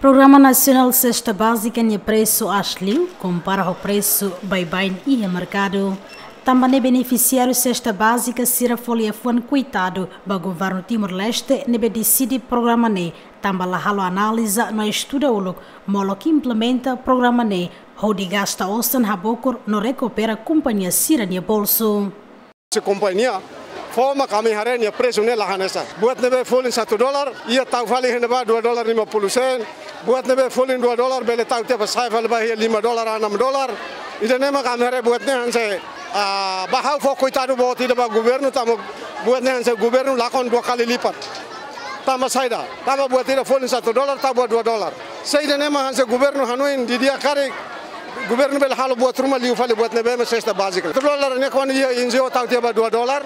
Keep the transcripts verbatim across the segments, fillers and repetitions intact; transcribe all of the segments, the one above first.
Programa Nasionál Sesta Bázika nia presu aas liu, kompara ho presu baibain iha merkadu. Tanba ne'e benefisiáriu sesta bázika sira fó liafuan koitadu ba governu Timor-Leste ne'ebé deside programa ne'e, tanba la halo analiza no estuda uluk, molok implementa programa ne'e, hodi gasta osan habokur no rekupera kompañia sira-nia bolsu. Se kompañia fó mak ami haree nia presu ne'e la hanesan. Buat ne'ebé folin satu dolar, iha tau fali iha ne'ebá dua dolar lima puluh sen. Buat ne'ebé folin dua dolar, bele tau tiha ba sa'e fali ba iha lima dolar, enam dolar. Ida-ne'e mak ami haree buat ne'e hanesan, ah, ba ha'u fó koitadu boot ida ba governu, tanba buat ne'e hanesan governu lakon dua kali lipat. Tanba saida, tanba buat ida folin satu dolar, tau ba dua dolar. Se ida-ne'e mak hanesan governu hanoin didi'ak karik, governu bele halo buat ruma liu fali buat ne'ebé mak sesta bázika. Satu dolar ne'e kuandu iha N G O tau tiha ba dua dolar,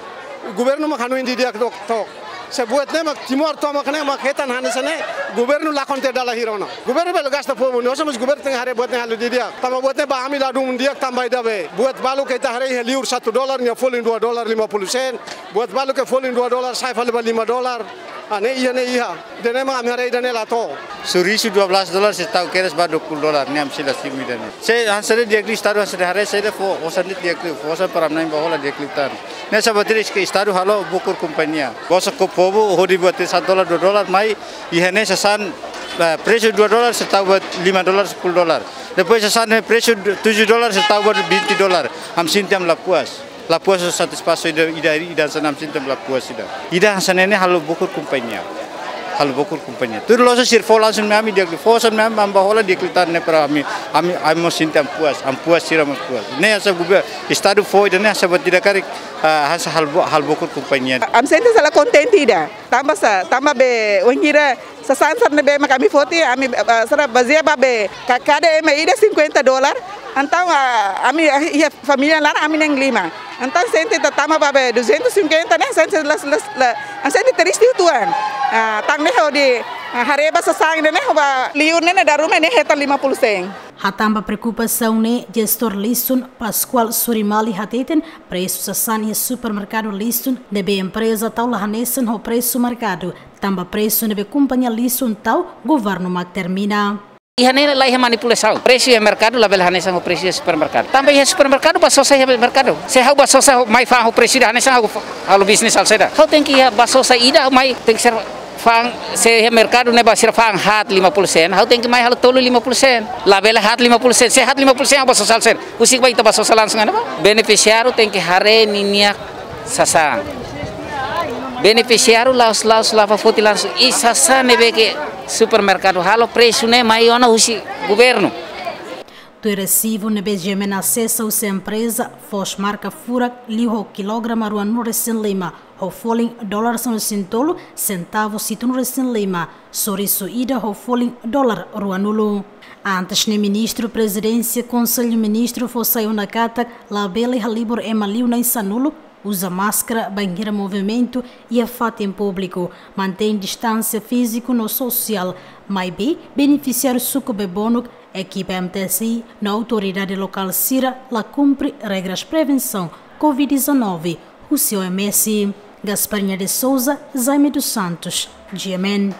governu mak hanoin didi'ak took, took. Se buat ne'e mak Timor tomak ne'e mak hetan hanesan ne'e, governu lakon tiha dala hira ona. Governu bele gasta povu nia osan, mas governu tenke haree buat ne'e halo didi'ak. Tanba buat ne'e ba ami ladún di'ak tanba ida be. Buat balu ke ita haree iha liur satu dolar, nia folin dua dolar lima puluh sen. Buat balu ke folin dua dolar, sa'e fali ba lima dolar. Ah, ne'e iha, ne'e iha. Ida-ne'e mak ami haree ida-ne'e la to'o. Surisu dua belas dolar, se tau kedas ba dua puluh dolar, ne'e ami sei la simu ida-ne'e. Se hanesan ne'e di'ak liu, Estadu hanesan ne'e haree, se ida fó osan ne'e di'ak liu, fó osan para na'in ba hola di'ak liután. Ne'e saida buat ida ke Estadu halo bokur kompañia. Gosa ho povu, hodi buat satu dolar, dua dolar, mai, iha ne'e sasán, eh, presu dua dolar, se tau ba lima dolar, sepuluh dolar. Depois sasán ne'e presu tujuh dolar, se tau ba vinte dolar. Ami sente ami la puas. La puas satisfás ida, ida, ida hanesan ami sente la puas ida. Ida hanesan ne'e halo bokur kompañia. Halo bokur kompañia. Tuir loos sira fó langsung mai ami di'ak liu, fó osan mai ami, ami ba hola di'ak liután ne'e para ami, ami, ami mós sente ami puas, ami puas sira mós puas. Ne'e hanesan gover-, Estadu fó ida-ne'e hanesan buat ida karik, ah, hanesan halo bo-, halo bokur kompañia. Ami sente sala kontente ida. Tanba sá, tanba be wainhira sasán sira ne'ebé mak ami foti, ami, ah, sira bazeia ba be ka-, kada ema ida cinquenta dolar. Entaun, ah, ami, ah, iha família laran ami na'in lima. Entaun sente ita tama ba be duzentos e cinquenta ne'e, sente la, la, la, ah, sente triste uitoan. Ah, tan ne'e hodi, ah, haree ba sasán ne'e, ne'e, ba liur ne'e, ne'e dala ruma ne'e hetan lima puluh sen. Hatán ba preokupasaun ne'e, jestór liasun Pascoal Surimali hateten, presu sasán iha supermerkadu liasun ne'ebé empreza tau la hanesan ho presu merkadu, tanba presu ne'ebé kompañia liasun tau, governu mak termina. Iha ne'e la iha manipulasaun. Presu iha merkadu labele hanesan ho presu iha supermerkadu. Tanba iha supermerkadu bá sosa iha merkadu. Se ha'u bá sosa mai fa'an ho presu ida hanesan ha'u fa-, halo bisnis halo saida. Ha'u tenke iha bá sosa ida mai tenke ser fa'an, se iha merkadu ne'e bá sira fa'an haat lima puluh sen, ha'u tenke mai halo tolu lima puluh sen. Labele haat lima puluh sen. Se haat lima puluh sen ha'u bá sosa halo saida. Husik bá ita bá sosa langsung ona bá. Benefisiáriu tenke haree ninia sasán. Benefisiáriu la'ós, la'ós la'o foti langsung. I sasán ne'ebé ke supermerkadu halo presu ne'e mai ona husi governu. Tuir resibu ne'ebé GMN asesa husi empreza, foos marka furak liu ho kilograma ruanulu resin lima, ho folin dolar sanulu resin tolu, sentavu situnulu resin lima, sorisu ida ho folin dolar ruanulu. Antes ne'e Ministru Prezidénsia Konsellu Ministru fó sai ona katak labele halibur ema liu na'in sanulu, uza máskara bainhira movimentu iha fatin públiku, mantein distánsia fíziku no sosiál, maibé benefisiáriu suku Bebonuk, ekipa M T S I no autoridade lokál sira la kumpre regras prevensaun covid dezanove, husi O M S. Gasparinha de Souza, Jaime dos Santos, GMN.